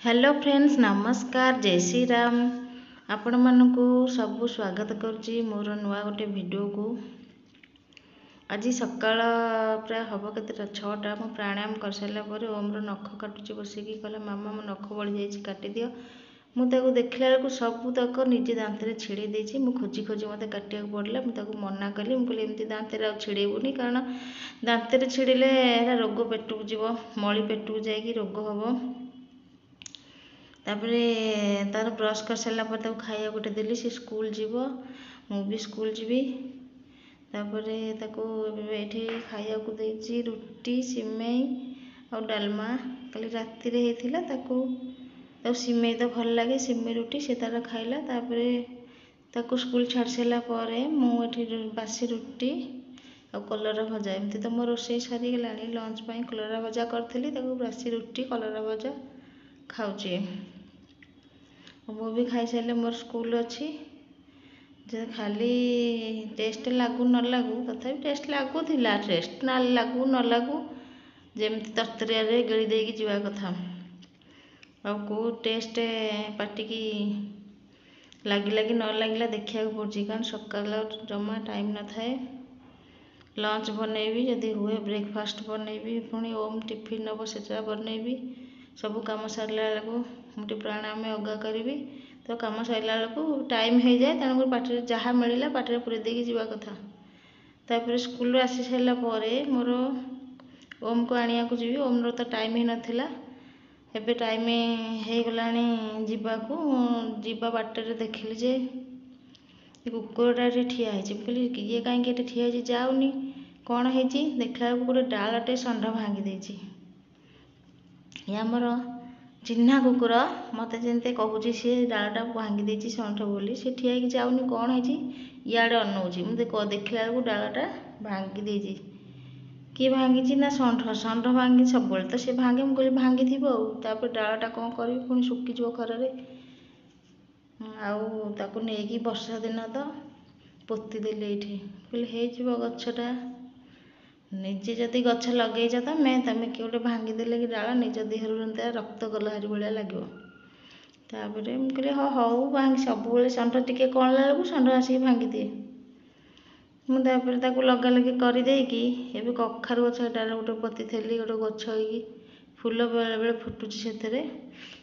Hello friends, ନମସ୍କାର, ଜୟ ଶ୍ରୀରାମ। ଆପଣମାନଙ୍କୁ ସବୁ ସ୍ୱାଗତ କରୁଛି ମୋର ନୂଆ ଗୋଟେ ଭିଡ଼ିଓକୁ। ଆଜି ସକାଳ ପ୍ରାୟ ହେବ କେତେଟା, 6ଟା। ମୁଁ ପ୍ରାଣାୟାମ କରିସାରିଲା ପରେ ଓମ୍ର ନଖ କାଟୁଛି ବସିକି। କହିଲା, ମାମା, ମୋ ନଖ ବଢ଼ିଯାଇଛି, କାଟିଦିଅ। ମୁଁ ତାକୁ ଦେଖିଲା ବେଳକୁ ସବୁତକ ନିଜେ ଦାନ୍ତରେ ଛିଡ଼େଇ ଦେଇଛି। ମୁଁ ଖୋଜି ଖୋଜି ମୋତେ କାଟିବାକୁ ପଡ଼ିଲା। ମୁଁ ତାକୁ ମନା କଲି, ମୁଁ କହିଲି ଏମିତି ଦାନ୍ତରେ ଆଉ ଛିଡ଼େଇବୁନି, କାରଣ ଦାନ୍ତରେ ଛିଡ଼େଇଲେ ଏରା ରୋଗ ପେଟକୁ ଯିବ, ମଳି ପେଟକୁ ଯାଇକି ରୋଗ ହେବ। ତାପରେ ତାର ବ୍ରସ୍ କରିସାରିଲା ପରେ ତାକୁ ଖାଇବାକୁ ଗୋଟେ ଦେଲି। ସେ ସ୍କୁଲ ଯିବ, ମୁଁ ବି ସ୍କୁଲ ଯିବି। ତାପରେ ତାକୁ ଏବେ ଏଇଠି ଖାଇବାକୁ ଦେଇଛି ରୁଟି, ସିମେଇ ଆଉ ଡାଲମା, କାଲି ରାତିରେ ହେଇଥିଲା। ତାକୁ ସିମେଇ ତ ଭଲ ଲାଗେ, ସିମେଇ ରୁଟି ସେ ତାର ଖାଇଲା। ତାପରେ ତାକୁ ସ୍କୁଲ ଛାଡ଼ି ସାରିଲା ପରେ ମୁଁ ଏଠି ବାସି ରୁଟି ଆଉ କଲରା ଭଜା, ଏମିତି ତ ମୋ ରୋଷେଇ ସରିଗଲାଣି, ଲଞ୍ଚ ପାଇଁ କଲରା ଭଜା କରିଥିଲି, ତାକୁ ବାସି ରୁଟି କଲରା ଭଜା ଖାଉଛି। ମୁଁ ବି ଖାଇସାରିଲେ ମୋର ସ୍କୁଲ ଅଛି। ଯେ ଖାଲି ଟେଷ୍ଟ ଲାଗୁ ନ ଲାଗୁ, ତଥାପି ଟେଷ୍ଟ ଲାଗୁଥିଲା, ଟେଷ୍ଟ ନା ଲାଗୁ ନ ଲାଗୁ ଯେମିତି ତରତରିଆରେ ଗିଳି ଦେଇକି ଯିବା କଥା। ଆଉ କେଉଁ ଟେଷ୍ଟ ପାଟିକି ଲାଗିଲା କି ନ ଲାଗିଲା ଦେଖିବାକୁ ପଡ଼ୁଛି, କାରଣ ସକାଳ ଜମା ଟାଇମ୍ ନଥାଏ। ଲଞ୍ଚ ବନେଇବି, ଯଦି ହୁଏ ବ୍ରେକଫାଷ୍ଟ ବନେଇବି, ପୁଣି ଓମ୍ ଟିଫିନ୍ ନେବ ସେଟା ବନେଇବି। ସବୁ କାମ ସାରିଲା ବେଳକୁ ମୁଁ ଟିକେ ପ୍ରାଣାୟାମ ୟୋଗା କରିବି, ତ କାମ ସରିଲା ବେଳକୁ ଟାଇମ୍ ହେଇଯାଏ। ତେଣୁକରି ପାଟିରେ ଯାହା ମିଳିଲା ପାଟିରେ ପୁରେଇ ଦେଇକି ଯିବା କଥା। ତାପରେ ସ୍କୁଲରୁ ଆସି ସାରିଲା ପରେ ମୋର ଓମ୍କୁ ଆଣିବାକୁ ଯିବି। ଓମ୍ର ତ ଟାଇମ୍ ହେଇନଥିଲା, ଏବେ ଟାଇମ୍ ହେଇଗଲାଣି ଯିବାକୁ। ଯିବା ବାଟରେ ଦେଖିଲି ଯେ କୁକୁରଟା ଏଠି ଠିଆ ହେଇଛି। ମୁଁ କହିଲି ଇଏ କାହିଁକି ଏଠି ଠିଆ ହେଇଛି, ଯାଉନି, କ'ଣ ହେଇଛି? ଦେଖିଲା ବେଳକୁ ଗୋଟେ ଡାଳଟେ ଷଣ୍ଢ ଭାଙ୍ଗି ଦେଇଛି। ଇଏ ଆମର ଚିହ୍ନା କୁକୁର, ମୋତେ ଯେମିତି କହୁଛି ସିଏ ଡାଳଟା ଭାଙ୍ଗି ଦେଇଛି ଷଣ୍ଢ ବୋଲି। ସେ ଠିଆ ହେଇକି ଯାଉନି, କ'ଣ ହେଇଛି, ଇଆଡ଼େ ଅନଉଛି। ମୁଁ ଦେଖିଲା ବେଳକୁ ଡାଳଟା ଭାଙ୍ଗି ଦେଇଛି। କିଏ ଭାଙ୍ଗିଛି ନା ଷଣ୍ଢ। ଷଣ୍ଢ ଭାଙ୍ଗି ସବୁବେଳେ ତ ସେ ଭାଙ୍ଗେ, ମୁଁ କହିଲି ଭାଙ୍ଗିଥିବ ଆଉ। ତାପରେ ଡାଳଟା କ'ଣ କରିବି, ପୁଣି ଶୁଖିଯିବ ଖରାରେ, ଆଉ ତାକୁ ନେଇକି ବର୍ଷା ଦିନ ତ ପୋତିଦେଲି ଏଇଠି। କହିଲି ହେଇଯିବ ଗଛଟା। ନିଜେ ଯଦି ଗଛ ଲଗେଇଛ ତମେ, କିଏ ଗୋଟେ ଭାଙ୍ଗିଦେଲେ କି ଡାଳ, ନିଜ ଦେହରୁ ଯେମିତି ରକ୍ତ ଗଲା ହାରି ଭଳିଆ ଲାଗିବ। ତାପରେ ମୁଁ କହିଲି ହଁ ହଉ ଭାଙ୍ଗି, ସବୁବେଳେ ଷଣ୍ଢ ଟିକେ କଅଁଳିଲା ବେଳକୁ ଷଣ୍ଢ ଆସିକି ଭାଙ୍ଗିଦିଏ। ମୁଁ ତାପରେ ତାକୁ ଲଗାଲଗି କରିଦେଇକି ଏବେ କଖାରୁ ଗଛ ଏଟାରେ ଗୋଟେ ପୋତିଥିଲି, ଗୋଟେ ଗଛ ହେଇକି ଫୁଲ ବେଳେବେଳେ ଫୁଟୁଛି ସେଥିରେ।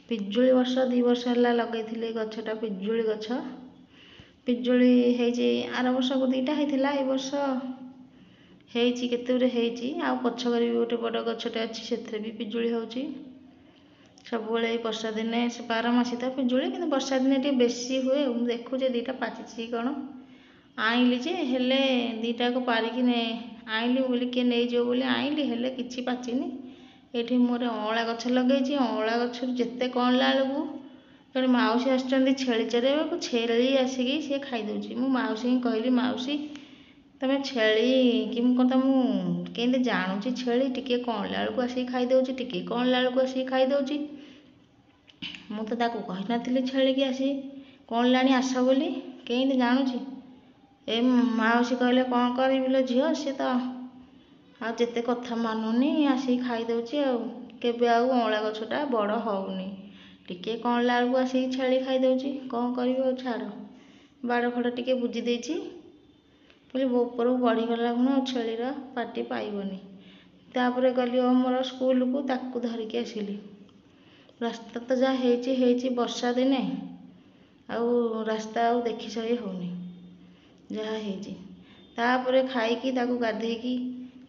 ପିଜୁଳି ବର୍ଷ 2 ବର୍ଷ ହେଲା ଲଗେଇଥିଲି ଗଛଟା, ପିଜୁଳି ଗଛ ପିଜୁଳି ହେଇଛି। ଆର ବର୍ଷକୁ 2ଟା ହେଇଥିଲା, ଏ ବର୍ଷ ହେଇଛି କେତେ ଗୁରେ ହେଇଛି। ଆଉ ପଛ ଘରେ ବି ଗୋଟେ ବଡ଼ ଗଛଟେ ଅଛି, ସେଥିରେ ବି ପିଜୁଳି ହେଉଛି ସବୁବେଳେ। ଏଇ ବର୍ଷା ଦିନେ, ସେ 12 ମାସି ତ ପିଜୁଳି, କିନ୍ତୁ ବର୍ଷା ଦିନେ ଟିକେ ବେଶୀ ହୁଏ। ମୁଁ ଦେଖୁଛି 2ଟା ପାଚିଛି କ'ଣ, ଆଣିଲି ଯେ ହେଲେ 2ଟାକୁ ପାରିକି ଆଣିଲି ବୋଲି କିଏ ନେଇଯିବ ବୋଲି ଆଣିଲି, ହେଲେ କିଛି ପାଚିନି। ଏଇଠି ମୋର ଅଁଳା ଗଛ ଲଗେଇଛି। ଅଁଳା ଗଛରୁ ଯେତେ କଅଁଳିଲା ବେଳକୁ ଜଣେ ମାଉସୀ ଆସିଛନ୍ତି ଛେଳି ଚରେଇବାକୁ, ଛେଳି ଆସିକି ସିଏ ଖାଇଦେଉଛି। ମୁଁ ମାଉସୀଙ୍କୁ କହିଲି, ମାଉସୀ ତମେ ଛେଳି କି ମୁଁ କ'ଣ ତମକୁ କେମିତି ଜାଣୁଛି, ଛେଳି ଟିକେ କଅଁଳିଲା ବେଳକୁ ଆସିକି ଖାଇଦେଉଛି, ଟିକେ କଅଁଳିଲା ବେଳକୁ ଆସିକି ଖାଇଦେଉଛି। ମୁଁ ତ ତାକୁ କହିନଥିଲି ଛେଳିକି ଆସି କଅଁଳିଲାଣି ଆସ ବୋଲି, କେମିତି ଜାଣୁଛି? ଏ ମାଉସୀ କହିଲେ, କ'ଣ କରିବି ଲୋ ଝିଅ, ସିଏ ତ ଆଉ ଯେତେ କଥା ମାନୁନି, ଆସିକି ଖାଇଦେଉଛି, ଆଉ କେବେ ଆଉ ଅଁଳା ଗଛଟା ବଡ଼ ହେଉନି, ଟିକେ କଅଁଳିଲା ବେଳକୁ ଆସିକି ଛେଳି ଖାଇଦେଉଛି, କ'ଣ କରିବି ଆଉ ଛାଡ଼। ବାଡ଼ ଫାଡ଼ ଟିକେ ବୁଜି ଦେଇଛି ବୋଲି ଉପରକୁ ବଢ଼ିଗଲା ଖୁଣୁ ଆଉ ଛେଳିର ପାଟି ପାଇବନି। ତାପରେ ଗଲି ମୋର ସ୍କୁଲକୁ, ତାକୁ ଧରିକି ଆସିଲି। ରାସ୍ତା ତ ଯାହା ହେଇଛି ହେଇଛି, ବର୍ଷା ଦିନେ ଆଉ ରାସ୍ତା ଆଉ ଦେଖି ସହି ହେଉନି ଯାହା ହେଇଛି। ତାପରେ ଖାଇକି ତାକୁ ଗାଧେଇକି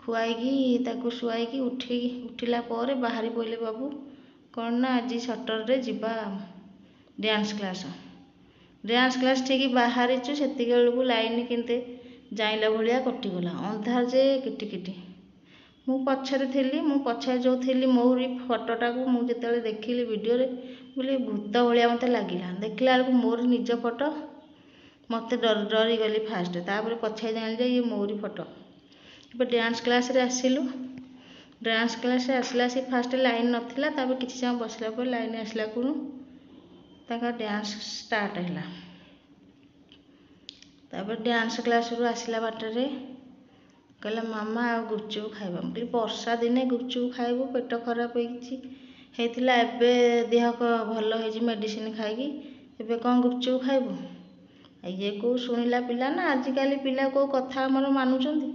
ଖୁଆଇକି ତାକୁ ଶୁଆଇକି ଉଠିକି ଉଠିଲା ପରେ ବାହାରି ପଡ଼ିଲେ ବାବୁ, କ'ଣ ନା ଆଜି ସଟରଡେ, ଯିବା ଡ୍ୟାନ୍ସ କ୍ଲାସ୍। ଡ୍ୟାନ୍ସ କ୍ଲାସ୍ ଠିକ୍ ବାହାରିଛୁ, ସେତିକି ବେଳକୁ ଲାଇନ୍ କେମିତି ଜାଇଁଲା ଭଳିଆ କଟିଗଲା, ଅନ୍ଧାର ଯେ କିଟିକିଟି। ମୁଁ ପଛରେ ଥିଲି। ମୁଁ ପଛରେ ଯେଉଁ ଥିଲି, ମୋରି ଫଟୋଟାକୁ ମୁଁ ଯେତେବେଳେ ଦେଖିଲି ଭିଡ଼ିଓରେ ବୋଲି ଭୂତ ଭଳିଆ ମୋତେ ଲାଗିଲା। ଦେଖିଲା ବେଳକୁ ମୋର ନିଜ ଫଟୋ, ମୋତେ ଡରିଗଲି ଫାଷ୍ଟ, ତାପରେ ପଛରେ ଜାଣିଲି ଯେ ଇଏ ମୋରି ଫଟୋ। ଏବେ ଡ୍ୟାନ୍ସ କ୍ଲାସ୍ରେ ଆସିଲୁ। ଡ୍ୟାନ୍ସ କ୍ଲାସ୍ରେ ଆସିଲା ସେ ଫାଷ୍ଟ ଲାଇନ୍ ନଥିଲା, ତାପରେ କିଛି ସମୟ ବସିଲା ପରେ ଲାଇନ୍ ଆସିଲା ଖୁଣୁ ତାଙ୍କ ଡ୍ୟାନ୍ସ ଷ୍ଟାର୍ଟ ହେଲା। ତାପରେ ଡ୍ୟାନ୍ସ କ୍ଲାସ୍ରୁ ଆସିଲା ବାଟରେ କହିଲା, ମାମା ଆଉ ଗୁପଚୁପ୍ ଖାଇବା। ମୁଁ କହିଲି ବର୍ଷା ଦିନେ ଗୁପଚୁପ୍ ଖାଇବୁ, ପେଟ ଖରାପ ହେଇଛି, ହେଇଥିଲା, ଏବେ ଦେହ ଭଲ ହେଇଛି ମେଡ଼ିସିନ ଖାଇକି, ଏବେ କ'ଣ ଗୁପଚୁପ୍ ଖାଇବୁ? ଇଏ କେଉଁ ଶୁଣିଲା ପିଲା ନା, ଆଜିକାଲି ପିଲା କେଉଁ କଥା ଆମର ମାନୁଛନ୍ତି?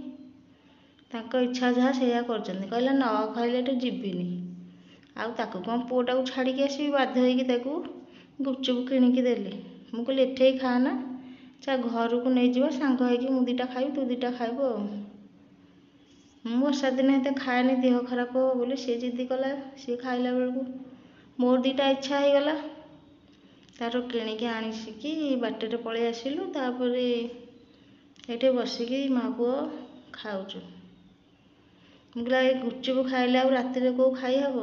ତାଙ୍କ ଇଚ୍ଛା ଯାହା ସେଇଆ କରୁଛନ୍ତି। କହିଲା ନ ଖାଇଲେ ଏଠୁ ଯିବିନି। ଆଉ ତାକୁ କ'ଣ ପୁଅଟାକୁ ଛାଡ଼ିକି ଆସିବି? ବାଧ୍ୟ ହେଇକି ତାକୁ ଗୁପଚୁପ୍ କିଣିକି ଦେଲି। ମୁଁ କହିଲି ଏଠେଇ ଖାଆନା, ଚା ଘରକୁ ନେଇଯିବା, ସାଙ୍ଗ ହେଇକି ମୁଁ ଦୁଇଟା ଖାଇବି, ତୁ ଦୁଇଟା ଖାଇବୁ। ଆଉ ମୁଁ ବର୍ଷା ଦିନେ ଏତେ ଖାଏନି, ଦେହ ଖରାପ ହେବ ବୋଲି। ସିଏ ଜିଦି କଲା, ସିଏ ଖାଇଲା ବେଳକୁ ମୋର ଦୁଇଟା ଇଚ୍ଛା ହେଇଗଲା। ତାର କିଣିକି ଆଣିସିକି ବାଟରେ ପଳେଇ ଆସିଲୁ। ତାପରେ ଏଇଠି ବସିକି ମା ପୁଅ ଖାଉଛୁ। ମୁଁ କହିଲି ଏ ଗୁପଚୁପ୍ ଖାଇଲେ ଆଉ ରାତିରେ କେଉଁ ଖାଇ ହେବ?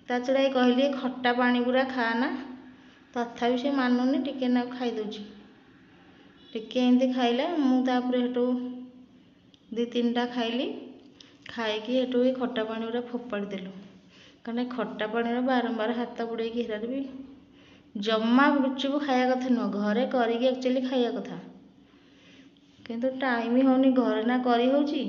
ତା ଛଡ଼ା ଏ କହିଲି ଖଟା ପାଣି ଗୁଡ଼ା ଖାଆନା, ତଥାପି ସେ ମାନୁନି, ଟିକେ ନାକୁ ଖାଇଦେଉଛି। ଟିକେ ଏମିତି ଖାଇଲା, ମୁଁ ତାପରେ ସେଠୁ 2 3ଟା ଖାଇଲି। ଖାଇକି ସେଠୁ ଏ ଖଟା ପାଣି ଗୁଡ଼ା ଫୋପାଡ଼ି ଦେଲୁ, କାରଣ ଖଟା ପାଣିରେ ବାରମ୍ବାର ହାତ ବୁଡ଼େଇକି ହେରାରେ ବି ଜମା ଗୁପଚୁପ୍ ଖାଇବା କଥା ନୁହଁ। ଘରେ କରିକି ଆକ୍ଚୁଆଲି ଖାଇବା କଥା, କିନ୍ତୁ ଟାଇମ୍ ହେଉନି ଘରେ ନା କରି ହେଉଛି।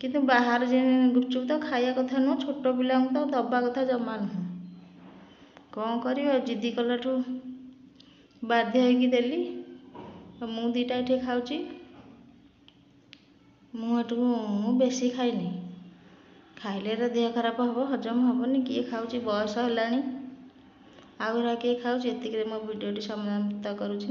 କିନ୍ତୁ ବାହାର ଯେ ଗୁପଚୁପ୍ ତ ଖାଇବା କଥା ନୁହଁ, ଛୋଟ ପିଲାଙ୍କୁ ତ ଦେବା କଥା ଜମା ନୁହଁ। କ'ଣ କରିବା, ଜିଦି କଲାଠୁ ବାଧ୍ୟ ହେଇକି ଦେଲି। ମୁଁ ଦୁଇଟା ଏଠି ଖାଉଛି। ମୁଁ ଏଠୁ ମୁଁ ବେଶୀ ଖାଇନି, ଖାଇଲେ ଏରା ଦେହ ଖରାପ ହେବ, ହଜମ ହେବନି। କିଏ ଖାଉଛି? ବୟସ ହେଲାଣି, ଆଉ ଏରା କିଏ ଖାଉଛି? ଏତିକିରେ ମୋ ଭିଡ଼ିଓଟି ସମାପ୍ତ କରୁଛି।